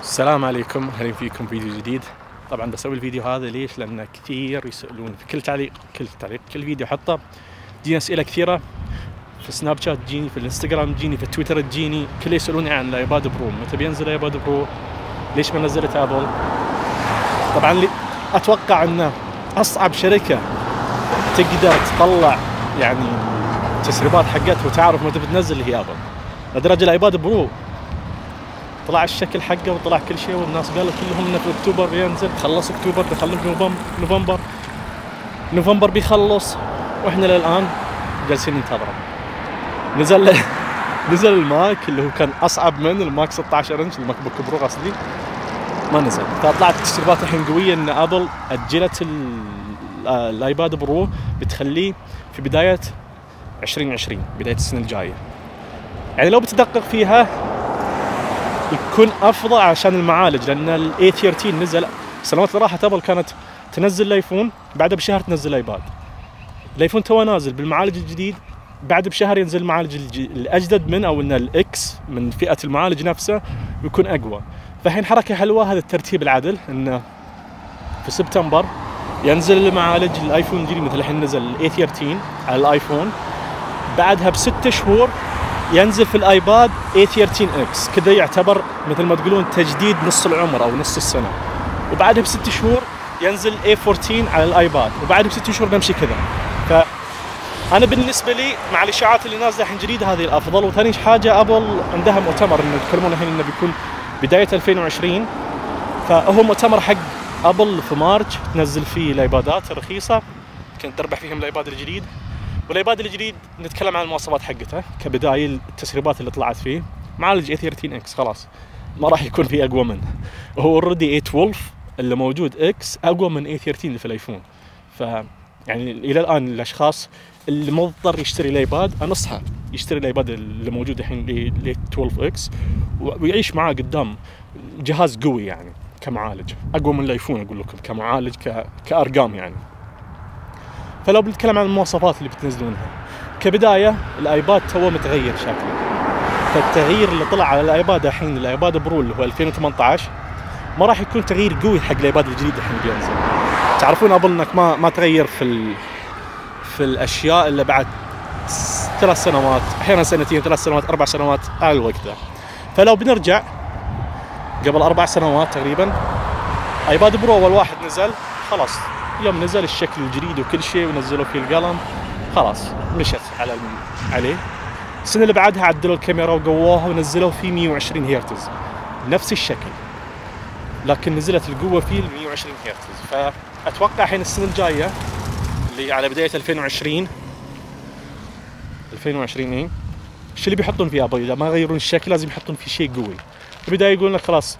السلام عليكم، اهلا فيكم فيديو جديد. طبعا بسوي الفيديو هذا ليش؟ لان كثير يسألون في كل تعليق كل فيديو حطه تجيني اسئله كثيره في سناب شات، تجيني في الانستغرام، تجيني في تويتر، تجيني كل يسألوني عن الايباد برو، متى بينزل الايباد برو؟ ليش ما نزلت ابل؟ طبعا اتوقع ان اصعب شركه تقدر تطلع يعني تسريبات حقتها وتعرف متى بتنزل هي ابل. لدرجه الايباد برو طلع الشكل حقه وطلع كل شيء، والناس قالوا كلهم انه في اكتوبر بينزل، خلص اكتوبر دخلنا في نوفمبر بيخلص، واحنا للان جالسين ننتظره. نزل الماك اللي هو كان اصعب من الماك 16 انش، الماك بوك برو قصدي، ما نزل. فطلعت تسريبات الحين قويه ان ابل اجلت الايباد برو، بتخليه في بدايه 2020، بدايه السنه الجايه. يعني لو بتدقق فيها يكون افضل عشان المعالج، لان الاي 13 نزل السنوات اللي راحت. ابل كانت تنزل الايفون بعدها بشهر تنزل الايباد. الايفون تو نازل بالمعالج الجديد، بعد بشهر ينزل المعالج الاجدد من، او ان الاكس من فئه المعالج نفسه يكون اقوى. فالحين حركه حلوه، هذا الترتيب العدل، انه في سبتمبر ينزل المعالج الايفون الجديد، مثل الحين نزل الاي 13 على الايفون، بعدها ب6 شهور ينزل في الايباد A13 X، كذا يعتبر مثل ما تقولون تجديد نص العمر او نص السنه. وبعدها ب6 شهور ينزل A14 على الايباد، وبعدها ب6 شهور نمشي كذا. فانا بالنسبه لي مع الاشاعات اللي نازله الحين جديده هذه الافضل. وثاني حاجه ابل عندها مؤتمر انه يتكلمون الحين انه بيكون بدايه 2020، فهو مؤتمر حق ابل في مارش تنزل فيه الايبادات رخيصه كنت تربح فيهم الايباد الجديد. والايباد الجديد نتكلم عن المواصفات حقته كبدايه، التسريبات اللي طلعت فيه. معالج A13 X خلاص ما راح يكون فيه اقوى منه، وهو اوريدي A12 اللي موجود اكس اقوى من A13 اللي في الايفون. ف يعني الى الان الاشخاص اللي مضطر يشتري الايباد انصحه يشتري الايباد اللي موجود الحين A12 اكس ويعيش معاه قدام. جهاز قوي يعني كمعالج، اقوى من الايفون اقول لكم كمعالج كارقام يعني. فلو بنتكلم عن المواصفات اللي بتنزلونها كبدايه، الايباد تو متغير شكله. فالتغيير اللي طلع على الايباد الحين، الايباد برو اللي هو 2018، ما راح يكون تغيير قوي حق الايباد الجديد الحين بينزل. تعرفون ابل انك ما تغير في الاشياء اللي بعد 3 سنوات، احيانا 2 3 سنوات 4 سنوات على الوقت ده. فلو بنرجع قبل 4 سنوات تقريبا، ايباد برو اول واحد نزل خلاص، يوم نزل الشكل الجديد وكل شيء ونزلوا فيه القلم خلاص مشت عليه. السنه اللي بعدها عدلوا الكاميرا وقووها ونزلوا فيه 120 هرتز نفس الشكل، لكن نزلت القوه فيه ال 120 هرتز. فاتوقع الحين السنه الجايه اللي على بدايه 2020 ايه الشيء اللي بيحطون فيه ابل، اذا ما يغيرون الشكل لازم يحطون فيه شيء قوي. البدايه يقولون لك خلاص،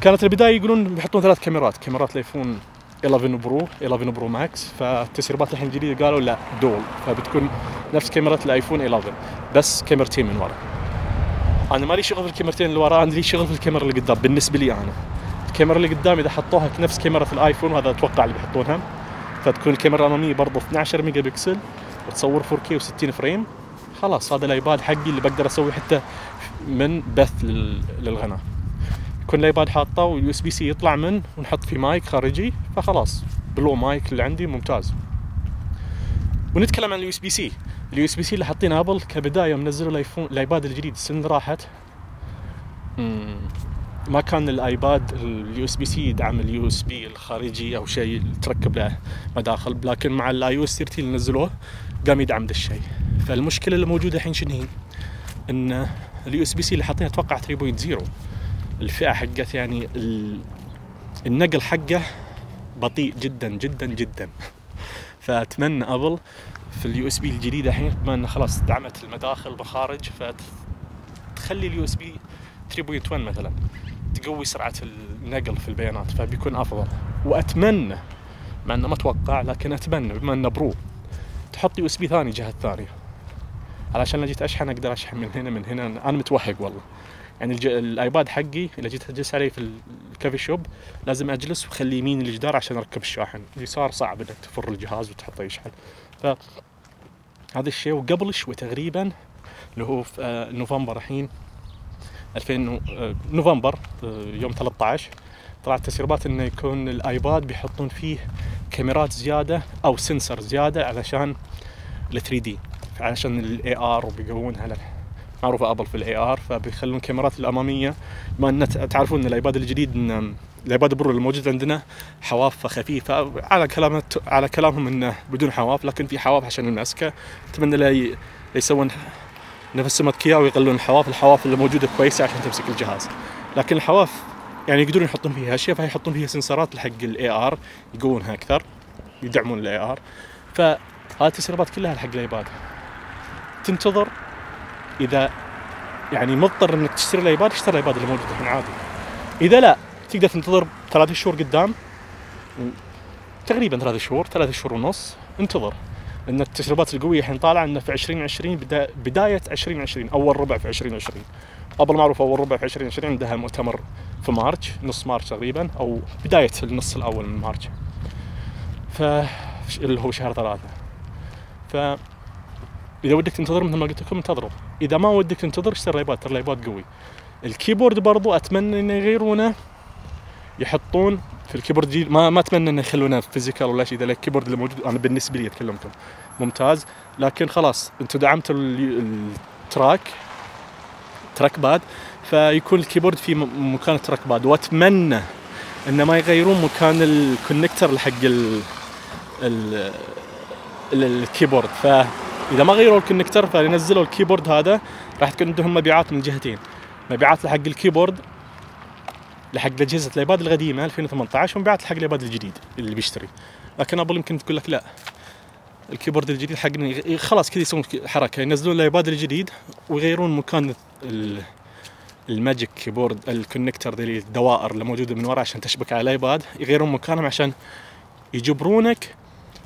كانت البدايه يقولون بيحطون 3 كاميرات الايفون 11 برو ماكس. فالتسريبات الحين الجديده قالوا لا دول، فبتكون نفس كاميرا الايفون 11 بس كاميرتين من ورا. انا مالي شغل في الكاميرتين اللي ورا، عندي شغل في الكاميرا اللي قدام. بالنسبه لي انا الكاميرا اللي قدام اذا حطوها نفس كاميرا الايفون، وهذا اتوقع اللي بيحطونها، فتكون الكاميرا الاماميه برضه 12 ميجا بكسل وتصور 4K و60 فريم، خلاص هذا الايباد حقي اللي بقدر اسوي حتى من بث للغناء. يكون الايباد حاطه واليو اس بي سي يطلع من ونحط فيه مايك خارجي، فخلاص بلو مايك اللي عندي ممتاز. ونتكلم عن اليو اس بي سي اللي حاطينه ابل كبدايه منزلوا الايباد الجديد السنه اللي راحت. ما كان الايباد اليو اس بي سي يدعم اليو اس بي الخارجي او شيء تركب له مداخل، لكن مع الاي او اس 13 اللي نزلوه قام يدعم ذا الشيء. فالمشكله اللي موجوده الحين شنو هي؟ ان اليو اس بي سي اللي حاطينه اتوقع 3.0 الفئه حقت يعني النقل حقه بطيء جدا جدا جدا. فاتمنى ابل في اليو اس بي الجديده الحين، بما انه خلاص دعمت المداخل بخارج، فتخلي اليو اس بي 3.1 مثلا تقوي سرعه النقل في البيانات، فبيكون افضل. واتمنى، مع انه ما اتوقع لكن اتمنى بما انه برو، تحط يو اس بي ثاني جهه ثانيه، علشان لو جيت اشحن اقدر اشحن من هنا. انا متوهق والله يعني. الايباد حقي اذا جيت اجلس عليه في الكافي شوب لازم اجلس واخلي يمين الجدار عشان اركب الشاحن، اليسار صعب انك تفر الجهاز وتحطه يشحن. فهذا الشيء. وقبل شوي تقريبا اللي هو في نوفمبر الحين نوفمبر يوم 13 طلعت تسريبات انه يكون الايباد بيحطون فيه كاميرات زياده او سنسر زياده علشان ال 3 دي، علشان الاي ار، وبيقوونها على معروفه ابل في الاي ار، فبيخلون الكاميرات الاماميه. ما ان تعرفون ان الايباد الجديد، ان الايباد برو الموجود عندنا حوافه خفيفه، على كلامهم انه بدون حواف، لكن في حواف عشان المسكه. اتمنى لا يسوون نفس سمكية ويقللون الحواف اللي موجوده كويسه عشان تمسك الجهاز. لكن الحواف يعني يقدرون يحطون فيها اشياء، فيحطون فيها سنسرات حق الاي ار يقوونها اكثر، يدعمون الاي ار. فهذه التسريبات كلها حق الايباد. تنتظر اذا يعني مضطر انك تشتري الايباد، اشتري الايباد اللي موجود الحين عادي. اذا لا تقدر تنتظر 3 شهور قدام، تقريبا 3 شهور ونص انتظر، لان التسريبات القويه الحين طالعه انه في 2020 بدايه 2020 اول ربع في 2020. ابل معروف اول ربع في 2020 عندها مؤتمر في مارس، نص مارس تقريبا، او بدايه النص الاول من مارس، اللي هو شهر 3. اذا ودك تنتظر مثل ما قلت لكم انتظروا، اذا ما ودك تنتظر اشتري الايباد، ترى الايباد قوي. الكيبورد برضو اتمنى انه يغيرونه، يحطون في الكيبورد جديد، ما اتمنى انه يخلونه فيزيكال ولا شيء. اذا الكيبورد اللي موجود انا بالنسبه لي اتكلمكم ممتاز، لكن خلاص انتم دعمتوا تراك باد، فيكون الكيبورد في مكان التراك باد. واتمنى ان ما يغيرون مكان الكونكتر حق الكيبورد، فاذا ما غيروا الكونكتر فينزلوا الكيبورد هذا، راح تكون عندهم مبيعات من جهتين، مبيعات لحق الكيبورد لحق اجهزه الايباد القديمه 2018، ومبيعات لحق الايباد الجديد اللي بيشتري. لكن ابل يمكن تقول لك لا، الكيبورد الجديد حقنا خلاص كذا، يسوون حركه ينزلون الايباد الجديد ويغيرون مكان الماجيك كيبورد، الكونكتر ذي الدوائر اللي موجوده من ورا عشان تشبك على الايباد، يغيرون مكانهم عشان يجبرونك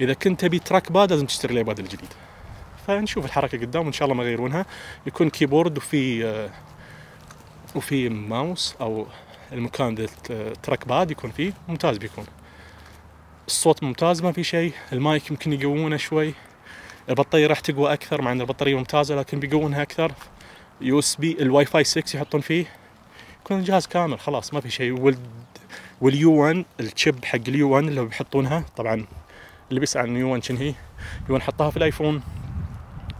اذا كنت تبي تراك باد لازم تشتري الايباد الجديد. فنشوف الحركه قدام وان شاء الله ما يغيرونها، يكون كيبورد وفي ماوس او المكان ذا تراك باد يكون فيه ممتاز، بيكون الصوت ممتاز ما في شيء. المايك يمكن يقوونه شوي، البطاريه راح تقوى اكثر مع ان البطاريه ممتازه لكن بيقوونها اكثر. يو اس بي الواي فاي 6 يحطون فيه، يكون الجهاز كامل خلاص ما في شيء. واليو 1 الشيب حق اليو 1 اللي بيحطونها، طبعا اللي بيسأل عن يو 1 شنو هي، يو 1 حطها في الايفون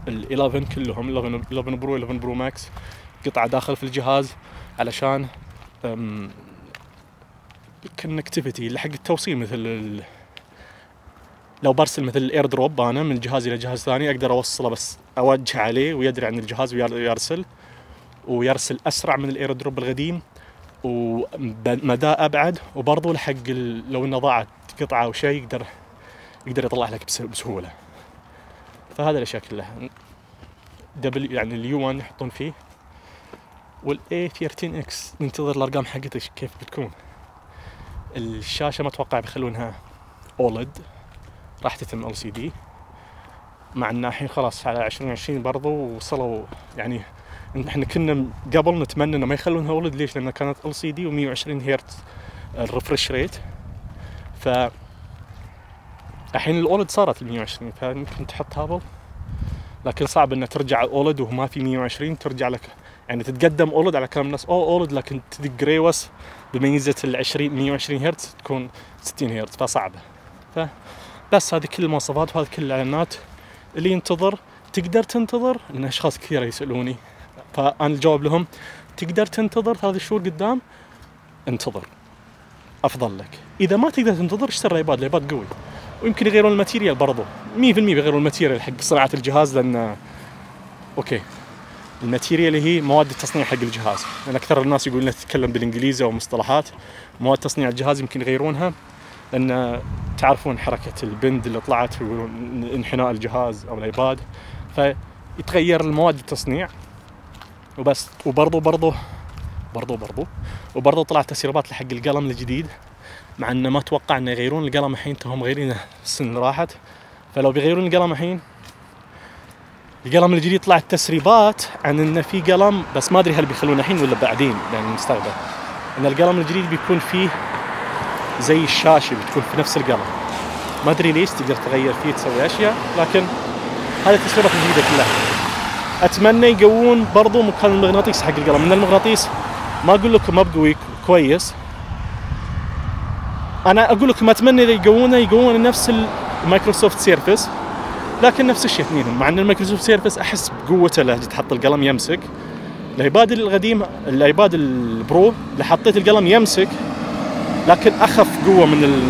ال11 كلهم، 11 برو 11 برو ماكس، قطعه داخل في الجهاز علشان كونكتيفيتي اللي حق التوصيل، مثل لو برسل مثل الاير دروب انا من جهاز الى جهاز ثاني اقدر اوصله، بس اوجه عليه ويدري عن الجهاز ويرسل اسرع من الاير دروب القديم ومدى ابعد. وبرضه لحق لو انه ضاعت قطعه او شيء يقدر يطلع لك بسهوله. فهذا الاشياء كلها يعني اليو 1 يحطون فيه. والاي 13 اكس ننتظر الارقام حقتها كيف بتكون. الشاشه ما اتوقع بيخلونها اولد، راح تتم LCD، مع ان الحين خلاص على 2020 برضو وصلوا. يعني احنا كنا قبل نتمنى انه ما يخلونها اولد، ليش؟ لان كانت LCD و120 هرتز الريفرش ريت، ف الحين الاولد صارت 120، فيمكن تحط هابل، لكن صعب انها ترجع اولد وما في 120 ترجع لك، يعني تتقدم اولد على كلام الناس اولد، لكن تدق ريوس بميزه ال 120 هرتز تكون 60 هرتز، فصعبه. فبس هذه كل المواصفات وهذه كل الاعلانات. اللي ينتظر تقدر تنتظر، لان اشخاص كثير يسالوني، فانا الجواب لهم تقدر تنتظر 3 شهور قدام، انتظر افضل لك. اذا ما تقدر تنتظر اشتري الايباد قوي، ويمكن يغيرون الماتيريال برضو 100% بيغيرون الماتيريال حق صناعه الجهاز، لان اوكي الماتيريال هي مواد التصنيع حق الجهاز، لان اكثر الناس يقولون تتكلم بالانجليزي او مصطلحات. مواد تصنيع الجهاز يمكن يغيرونها، لان تعرفون حركه البند اللي طلعت ويقولون انحناء الجهاز او الايباد، فيتغير المواد التصنيع وبس. وبرضو طلعت تسريبات لحق القلم الجديد، مع انه ما اتوقع انه يغيرون القلم الحين، هم غيرينه السنه راحت. فلو بيغيرون القلم الحين، القلم الجديد طلعت تسريبات عن انه في قلم، بس ما ادري هل بيخلونه الحين ولا بعدين يعني المستقبل، ان القلم الجديد بيكون فيه زي الشاشه بتكون في نفس القلم، ما ادري ليش، تقدر تغير فيه تسوي اشياء، لكن هذه التسريبات الجديده كلها. اتمنى يقوون برضو مكان المغناطيس حق القلم، من المغناطيس ما اقول لكم ما بقوي كويس، انا اقول لكم اتمنى اذا يقوونه نفس المايكروسوفت سيرفس، لكن نفس الشيء اثنينهم، مع ان المايكروسوفت سيرفس احس بقوته له تحط القلم يمسك. الايباد القديم الايباد البرو اللي حطيت القلم يمسك، لكن اخف قوه من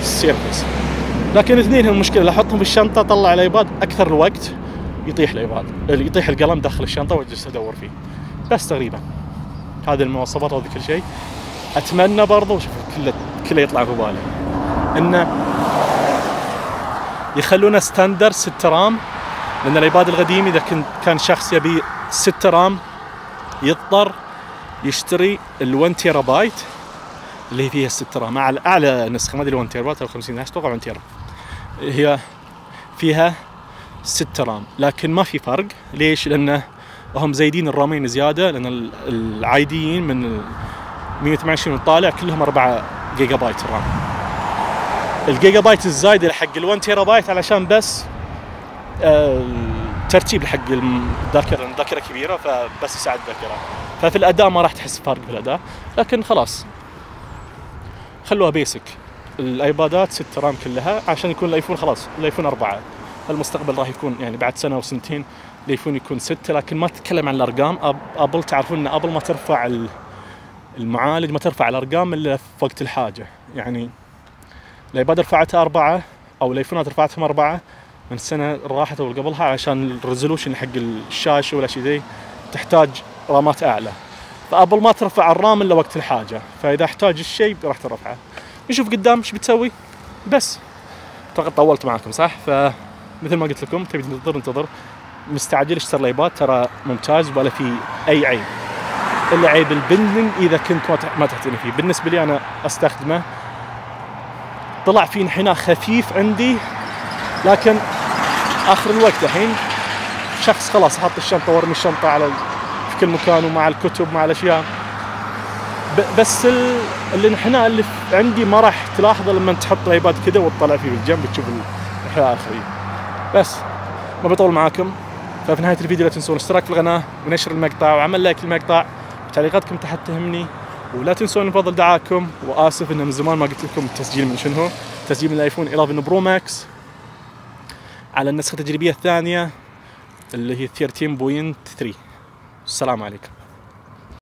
السيرفس. لكن اثنينهم المشكله، احطهم في الشنطه اطلع الايباد اكثر الوقت يطيح الايباد، يطيح القلم داخل الشنطه واجلس ادور فيه. بس تقريبا هذه المواصفات وهذا كل شيء. اتمنى برضو شوف كله يطلع في بالي انه يخلونه ستاندر 6 رام، لان الايباد القديم اذا كان شخص يبي 6 رام يضطر يشتري ال1 تيرا بايت اللي هي فيها 6 رام، اعلى نسخه ما ادري 1 تيرا بايت او 50 اتوقع 1 تيرا هي فيها 6 رام، لكن ما في فرق. ليش؟ لانه هم زايدين الرامين زياده، لان العاديين من 128 وطالع كلهم 4 جيجا بايت رام. الجيجا بايت الزايده حق ال1 تيرا بايت علشان بس ترتيب حق الذاكره كبيره، فبس يساعد الذاكره، ففي الاداء ما راح تحس فرق في الاداء. لكن خلاص خلوها بيسك، الايبادات 6 رام كلها عشان يكون الايفون خلاص الايفون 4. المستقبل راح يكون يعني بعد سنه وسنتين الايفون يكون 6، لكن ما تتكلم عن الارقام. ابل تعرفون ان ابل ما ترفع المعالج، ما ترفع الارقام الا في وقت الحاجه. يعني الايباد رفعتها 4 او الايفونات رفعتهم 4 من السنه راحت او قبلها، عشان الريزولوشن حق الشاشه والاشياء ذي تحتاج رامات اعلى، فابل ما ترفع الرام الا وقت الحاجه، فاذا احتاج الشيء راح ترفعه. نشوف قدام ايش بتسوي. بس اعتقد طولت معاكم صح؟ فمثل ما قلت لكم تبي انتظر، مستعجل اشتري الايباد ترى ممتاز ولا في اي عيب، الا عيب البندنج اذا كنت ما تعتني فيه. بالنسبه لي انا استخدمه، طلع فيه انحناء خفيف عندي، لكن اخر الوقت الحين شخص خلاص احط الشنطه وارمي الشنطه في كل مكان ومع الكتب مع الاشياء، بس الانحناء اللي عندي ما راح تلاحظه لما تحط الايباد كذا وتطلع فيه بالجنب تشوف الانحناء الاخري. بس ما بطول معاكم، ففي نهايه الفيديو لا تنسون الاشتراك في القناه ونشر المقطع وعمل لايك للمقطع، تعليقاتكم تحت تهمني، ولا تنسون بفضل دعاكم. واسف ان من زمان ما قلت لكم التسجيل من شنو، تسجيل من الايفون 11 برو ماكس على النسخه التجريبيه الثانيه اللي هي 13.3. السلام عليكم.